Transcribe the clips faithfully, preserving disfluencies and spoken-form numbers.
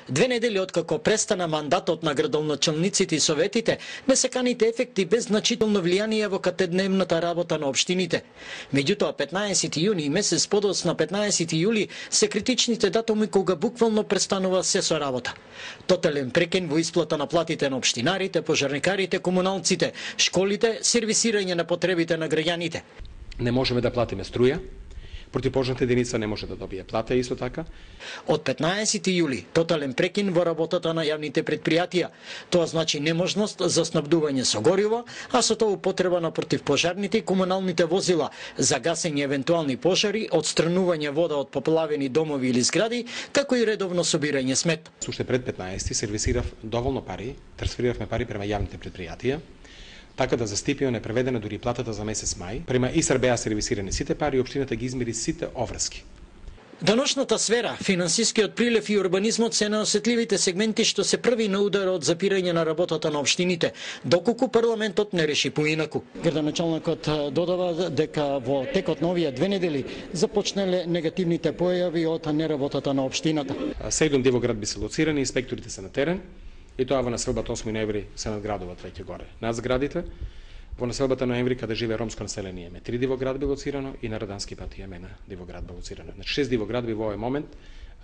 Две недели откако престана мандатот на градоначалниците и советите, не се каните ефекти без значително влијание во катедневната работа на општините. Меѓутоа, петнаесети јуни и месец подоцна петнаесети јули се критичните датуми кога буквално престанува се со работа. Тотален прекин во исплата на платите на општинарите, пожарникарите, комуналците, школите, сервисирање на потребите на граѓаните. Не можеме да платиме струја. Противпожарната единица не може да добие плата исто така. Од петнаесети јули тотален прекин во работата на јавните предпријатија. Тоа значи неможност за снабдување со гориво, а со тоа употреба на противпожарните и комуналните возила за гасење евентуални пожари, отстранување вода од поплавени домови или згради, како и редовно собирање смет. Уште пред петнаесети сервисирав доволно пари, трансфериравме пари према јавните предпријатија, така да за стипио не преведена дури платата за месец мај. Према ИСР беа сервисирани сите пари и општината ги измери сите оврски. Деношната сфера, финансискиот прилив и урбанизмот се наосетливите сегменти што се први на удар од запирање на работата на општините, доколку парламентот не реши поинаку. Градоначалникот додава дека во текот на овие две недели започнале негативните појави од неработата на општината. Седум Дивоград би се лоцирани, инспекторите се на терен, и тоа во населбата осми ноември се надградуваат веќе горе. Над зградите, во населбата ноември каде живее ромско население, ме три Дивоградби лоцирано и на Радански пат имаме на Дивоградба лоцирано. Значи шест Дивоградби во овој момент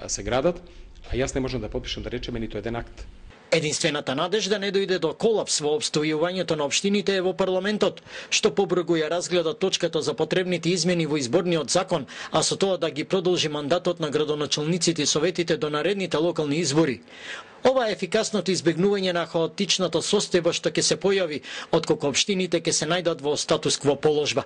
се градат, а јас не можам да потпишам да речеме ниту еден акт. Единствената надежда не дојде до колапс во обстојувањето на општините е во парламентот, што побрзо ја разгледа точката за потребните измени во изборниот закон, а со тоа да ги продолжи мандатот на градоначалниците и советите до наредните локални избори. Ова е ефикасното избегнување на хаотичната состојба што ќе се појави откако општините ќе се најдат во статус кво положба.